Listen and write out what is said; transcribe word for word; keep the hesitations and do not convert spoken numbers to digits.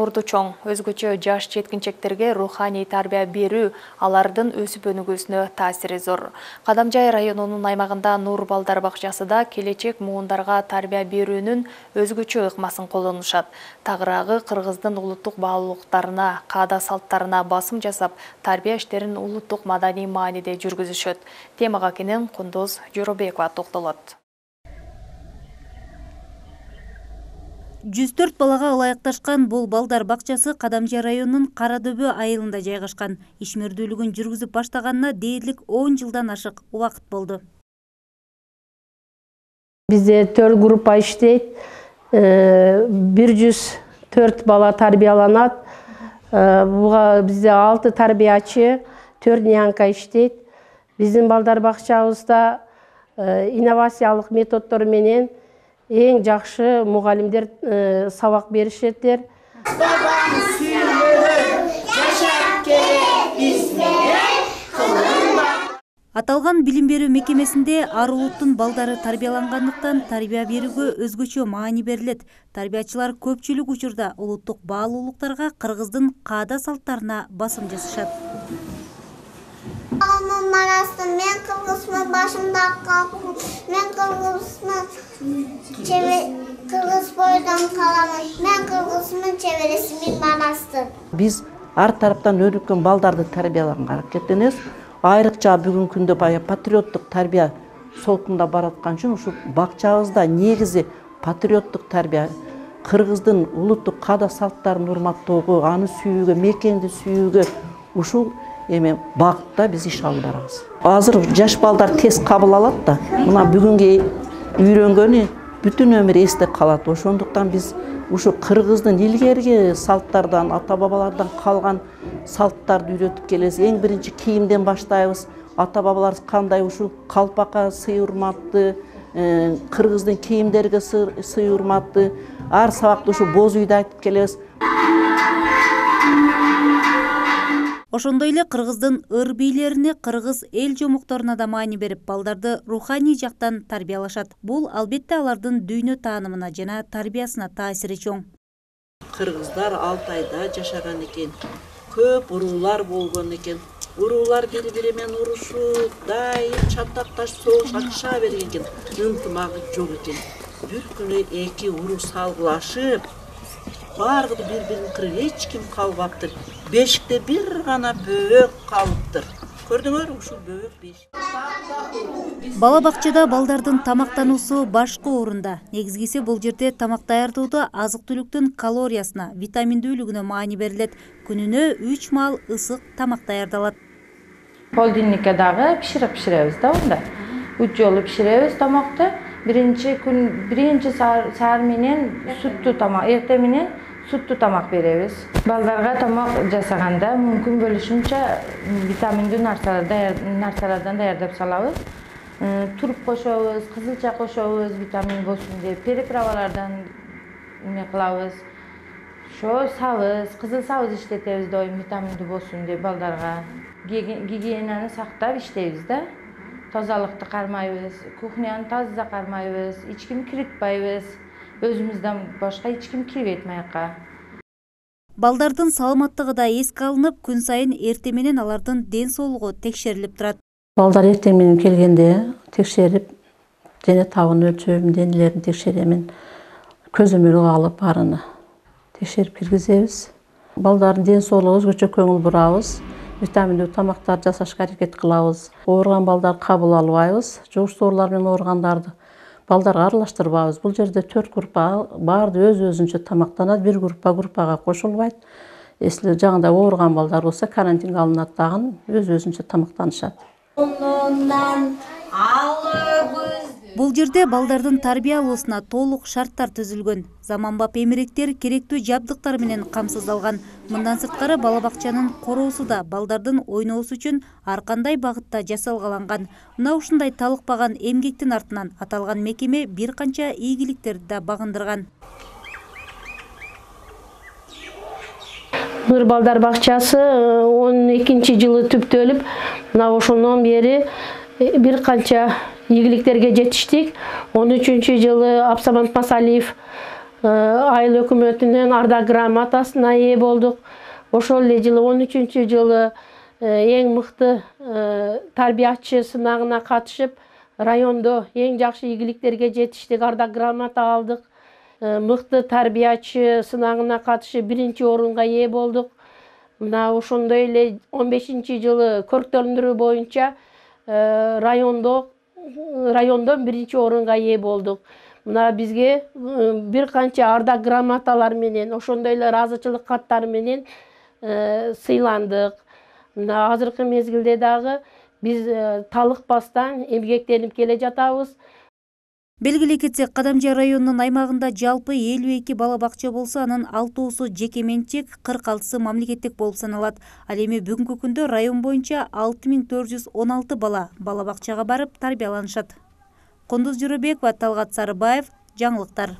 Орду чоң, өзгөчө жаш жеткинчектерге руханий тарбия берүү алардын өсүп өнүгүүсүнө таасири зор. Кадамжай районунун аймагында Нур балдар бакчасы да келечек муундарга тарбия берүүнүн өзгөчө ыкмасын колдонушат. Тагыраагы кыргыздын улуттук баалуулуктарына, каада салттарына басым жасап, тарбия иштерин улуттук маданий мааниде жүргүзүшөт. Темага кенен Кундуз Жоробекова токтолот. жүз төрт балага ылайыкташкан бул балдар бакчасы Кадамжай районунун Кара Дөбө айылында жайгашкан. Ишмердүүлүгүн жүргүзүп баштаганына дээрлик он жылдан ашык убакыт болду. Бизде төрт группа иштейт, бир жүз төрт бала тарбияланат. Буга бизде алты тарбиячы, төрт нянька иштейт. Биздин балдар бакчабызда инновациялык методдор менен эң жакшы мугалимдер сабак беришеттер. Аталган билим берүү мекемесинде ар улуттун балдары тарбиялангандыктан тарбия берүүгө өзгөчө маани берилет. Тарбиячылар көпчүлүк учурда улуттук баалуулуктарга, кыргыздын каада салттарына басым жасашат. Мен кыргызмын, башымда калкым, мен кыргызмын, кыргыз бойдон каламын, мен кыргызмын, чебересимин манасты. Биз ар тараптан өнүккөн балдарды тарбиялаганга аракеттенебиз. Айрыкча бүгүнкү күндө бая патриоттук тарбия солкунда бараткан үчүн ушул бакчабызда негизи патриоттук тарбия, кыргыздын улуттук каада салттарын урматтоого, аны сүйүүгө, мекенди сүйүүгө ушул эме багытта биз иш алып барабыз. Азыр жаш балдар тез кабыл алат да, мына бүгүнгү үйрөнгөнү бүтүн өмүр эсте калат. Ошондуктан биз ушу кыргыздын илгерки салттардан, ата бабалардан калган салттарды үйрөтүп келебиз. Эң биринчи кийимден баштайбыз. Ата бабаларыбыз кандай ушул калпакка сый урматты, кыргыздын кийимдерге сый урматты. Ар сабакта ушу боз үйдү айтып келебиз. Ошондой эле кыргыздын ыр бийлерине, кыргыз эл жомокторуна да маани берип, балдарды руханий жактан тарбиялашат. Бул албетте алардын дүйнө таанымына жана тарбиясына таасири чоң. Кыргыздар Алтайда жашаган экен, көп уруулар болгон экен. Уруулар бири-бири менен урушуп, дайым чатакташып согуш ачыша берген экен. Ынтымагы жок экен. Бир күнү эки уруу салгылашып, баргыды бири-бирин кырып, эч ким калбаптыр. Бешикте бир гана бөөк калыптыр. Көрдүңөр, ушул бөөк бешик. Бала бакчада балдардын тамактануусу башкы орунда. Негизгиси бул жерде тамак даярдоодо азык-түлүктүн калориясына, витаминдүүлүгүнө маани берилет. Күнүнө үч маал ысык тамак даярдалат. Холодильникке дагы пиширип пиширебиз да онда. Үч жолу пиширебиз тамакты. Биринчи күн, биринчи саар менен суттуу тамак, эртең менен суттуу тамак беребиз. Балдарга тамак жасаганда мүмкүн бөлүшүнчө витаминдүү нарсалардан даярдап салабыз. Туруп кошобуз, кызылча кошобуз, витамин болсун деп, переправалардан эме кылабыз. Ошо сабыз, кызыл сабыз иштетебиз доим витаминдүү болсун деп балдарга. Гигиенаны сактап иштейбиз да. Тазалыкты кармайбыз, кухняны таза кармайбыз, эч ким киритпайбыз. Өзүмүздөн башка эч ким кирбейт маяка. Балдардын саламаттыгы да эске алынып, күн сайын эртең менен алардын ден соолугу текшерилип турат. Балдар эртең менен келгенде текшерип, дене табын өлчөм, денелерин текшеремин, көзөмөлгө алып барыны текшерип киргизебиз. Балдардын ден соолугуна өзгөчө көңүл бурабыз. Витаминдүү тамактар жасашка аракет кылабыз. Ооруган балдар кабыл албайбыз. Жугуш оорулар менен ооругандарды балдарга аралаштырбайбыз. Бул жерде төрт группа баарды өз-өзүнчө тамактанат. Бир группа группага кошулбайт. Если жаңында ооруган балдар болсо карантинге алынат дагы өз-өзүнчө тамактанышат. Бул жерде балдардын тарбиялоосуна толук шарттар түзүлгөн. Заманбап эмеректер керектүү жабдыктар менен камсыздалган. Мындан сырткары бала бакчанын короосу да балдардын ойноосу үчүн ар кандай багытта жасалгаланган. Мына ушундай талыкпаган эмгектин артынан аталган мекеме бир канча ийгиликтерди да багындырган. Нур балдар бакчасы он экинчи жылы түптөлүп, мына ошондон бери бир канча ийгиликтерге жетиштик. он үчүнчү жылы Абсамат Масалиев айыл өкмөтүнөн ардак грамотасына ээ болдук. Ошол эле жылы он үчүнчү жылы эң мыкты тарбиячы сынагына катышып, райондо эң жакшы ийгиликтерге жетиштик ардак грамота алдык. Мыкты тарбиячы сынагына катышып биринчи орунга ээ болдук. Мына ошондой эле он бешинчи жылы көрктөндүрүү боюнча райондо райондон биринчи орунга ээ болдук. Мына бизге бир канча ардак грамоталар менен, ошондой эле ыраазычылык каттары менен сыйландык. Мына азыркы мезгилде дагы биз талыкпастан эмгектенип келе жатабыз. Белгилей кетсек, Кадамжай районунун аймагында жалпы элүү эки бала бакча болсо, анын алтоосу жеке менчик, кырк алтысы мамлекеттик болуп саналат. Ал эми бүгүнкү күндө район боюнча алты миң төрт жүз он алты бала бала бакчага барып тарбияланышат. Кондуз Журабекова, Талгат Сарыбаев, жаңылыктар.